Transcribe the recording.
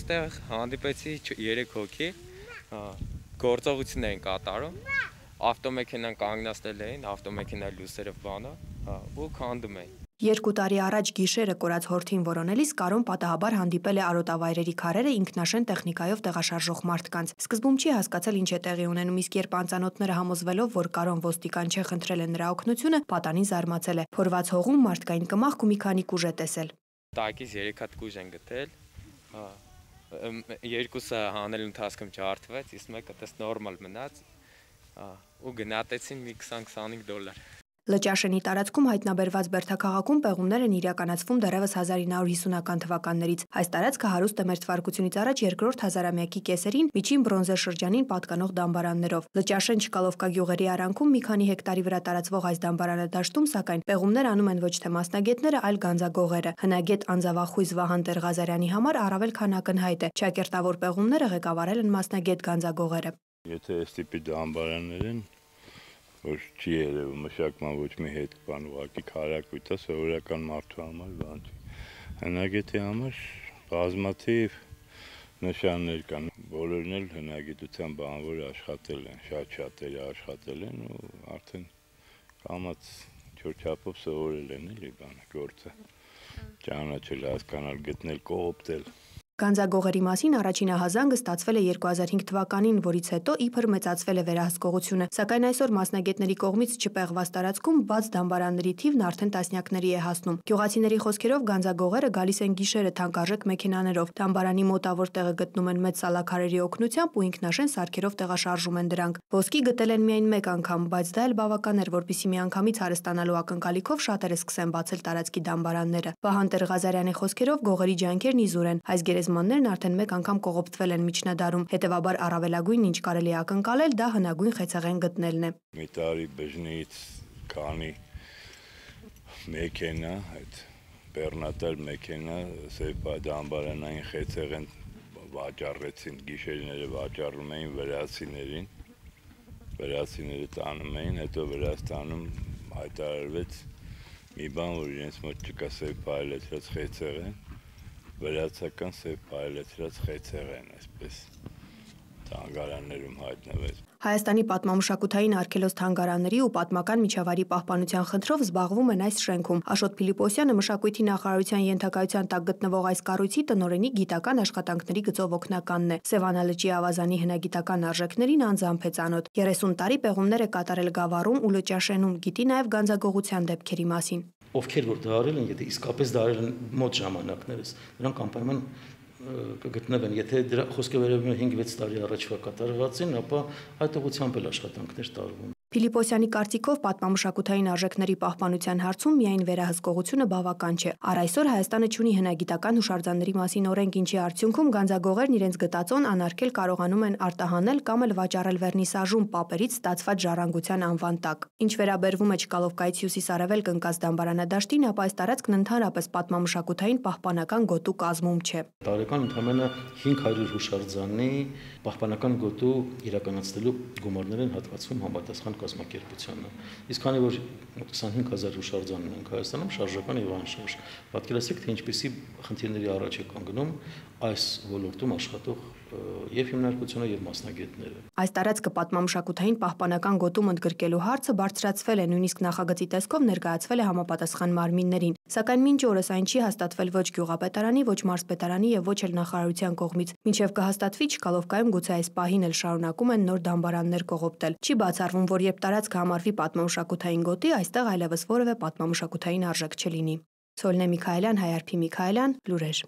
այստեղ հանդիպեցի 3 հոգի, գործողություն էին կատարում, ավտոմեքենան կանգնացնել էին, ավտոմեքենայի լույսերը բանը, ու քանդում էին։ 2 տարի առաջ գիշերը կորած հորթին որոնելիս Կարոն պատահաբար հանդիպել է արոտավայրերի քարերը ինքնաշեն տեխնիկայով տեղաշարժող մարդկանց։ Սկզբում չի հասկացել ինչ է տեղի ունենում, իսկ երբ անծանոթները համոզվելով, որ Կարոն ոստիկան չէ, խնդրել են նրա օգնությունը, պատանին զարմացել է։ Փորված հողում մարդկային կմախք ու մի քանի կուժ է տեսել։ Տակից 3 հատ կուժ են գտել, երկուսը հանելու ընթացքում ջարդվեց, իսկ մեկը դες նորմալ մնաց, ու գնահատեցին մի $20-25։ Լճաշենի տարածքում հայտնաբերված բերդաքաղաքում պեղումներ են իրականացվում դեռևս 1950-ական թվականներից։ Այս տարածքը հարուստ է մ.թ.ա. երկրորդ հազարամյակի կեսերին միջին բրոնզե շրջանին պատկանող դամբարաններով։ Լճաշեն Չկալովկա գյուղերի արանքում մի քանի հեկտարի վրա տարածվող այս դամբարանադաշտում, սակայն, պեղումներ անում են ոչ թե մասնագետները, այլ գանձագողերը։ Հնագետ անձավախույզ Վահան Տեր-Ղազարյանի համար առավել քան ակնհայտ է, ճակերտավոր պեղումները ղեկավարել են մասնագետ գանձագողերը։ Եթե այս տիպի դամբարաններ են, որ չի երևում մշակման ոչ մի հետ բան, ուղղակի քարակույտ է, սովորական մարդու համար բան չի։ Հնագետի համար բազմաթիվ նշաններ կան, բոլորն էլ հնագիտության բանվոր աշխատել են, շատ-շատերը աշխատել են ու արդեն կամաց չորչապով սովորել են էլի բանը, գործը, ճանաչել, հասկանալ, գտնել, կողոպտել։ Գանձագողերի մասին առաջին ահազանգը ստացվել է 2005 թվականին, որից հետո իբր մեծացվել է վերահսկողությունը, սակայն այսօր մասնագետների կողմից չպեղված տարածքում բաց դամբարանների թիվն արդեն տասնյակների է հասնում։ Գյուղացիների խոսքերով գանձագողերը գալիս են գիշերը թանկարժեք մեքենաներով, դամբարանի մոտավոր տեղը գտնում են մեծ սալաքարերի օգնությամբ ու ինքնաշեն սարքերով տեղաշարժում են դրանք։ Ոսկի գտել են միայն մեկ անգամ, բայց դա էլ բավական էր, որպեսզի միանգամից հարստանալու ակնկալիքով շատերը սկսեն բացել տարածքի դամբարանները։ Վահան Տեր-Ղազարյանի խոսքերով գողերի ջանքերն իզուր են, այս գերեզմաններն արդեն մեկ անգամ կողոպտվել են միջնադարում, հետևաբար առավելագույնն ինչ կարելի է ակնկալել, դա հնագույն խեցեղեն գտնելն է։ Մի տարի բժնից քանի մեքենա, այդ բեռնատար մեքենա, սեփ դամբարանային խեցեղեն վաճառեցին, գիշերները վաճառում էին վրացիներին, վրացիները տանում էին, հետո Վրաստանում հայտարարվեց մի բան, որ իրենց մոտ չկա սեփ փայլեցրած խեցեղեն, վրացական սեփ փայլեցրած խեցեղեն, այսպես թանգարաններում հայտնվեց։ Հայաստանի պատմամշակութային արգելոց թանգարանների ու պատմական միջավայրի պահպանության խնդրով զբաղվում են այս շենքում։ Աշոտ Փիլիպոսյանը մշակույթի նախարարության ենթակայության տակ գտնվող այս կառույցի տնօրենի գիտական աշխատանքների գծով օգնականն է։ Սևանալճի ավազանի հնագիտական արժեքներին անձամբ է ծանոթ։ 30 տարի պեղումներ է կատարել Գավառում ու Լճաշենում, գիտի նաև գանձագողության դեպքերի մասին։ Ովքեր որ դա արել են, եթե իսկապես դա արել են մոտ ժամանակներս, նրանք անպայման կգտնվեն, եթե դրա խոսքը վերաբերում է 5-6 տարի առաջվա կատարվածին, ապա այդ ուղղությամբ էլ աշխատանքներ տարվում։ Փիլիպոսյանի կարծիքով պատմամշակութային արժեքների պահպանության հարցում միայն վերահսկողությունը բավական չէ։ Առ այսօր Հայաստանը չունի հնագիտական հուշարձանների մասին օրենք, ինչի արդյունքում գանձագողերն իրենց գտածոն անարգել կարողանում են արտահանել կամ էլ վաճառել վերնիսաժում պապերից ստացված ժառանգության անվան տակ։ Ինչ վերաբերվում է Չկալովկայից հյուսիս-արևելք ընկած դամբարանադաշտին, ապա այս տարածքն ընդհանրապես պատմամշակութային պահպանական գոտու կազմում չէ։ Տարեկան ընդամենը 500 հուշարձանի պահպանական գոտու իրականացնելու գումարներ են հատկացվում համապատասխան կազմակերպությանը։ Իսկ քանի որ 25000 հուշարձան ունենք Հայաստանում, շարժական եւ անշարժ, պատկերացրեք, թե ինչպեսի խնդիրների առաջ է կանգնում այս ոլորտում աշխատող եւ հիմնարկությունը եւ մասնագետները։ Այս տարածքը պատմամշակութային պահպանական գոտում ընդգրկելու հարցը բարձրացվել է, նույնիսկ նախագծի տեսքով ներկայացվել է համապատասխան մարմիններին, սակայն մինչ օրս այն չի հաստատվել ոչ գյուղապետարանի, ոչ մարզպետարանի եւ ոչ էլ նախարարության կողմից։ Մինչեւ կհաստատվի Չկալովկայում գուցե այս պահին էլ շարունակում են նոր դամբարաններ կողոպտել։ Չի բացառվում, որ երբ տարածքը համարվի պատմամշակութային գոտի, այստեղ այլևս որևէ պատմամշակութային արժեք չլինի։ Սոլնե Միքայելյան, Հայարփի Միքայելյան, լուրեր։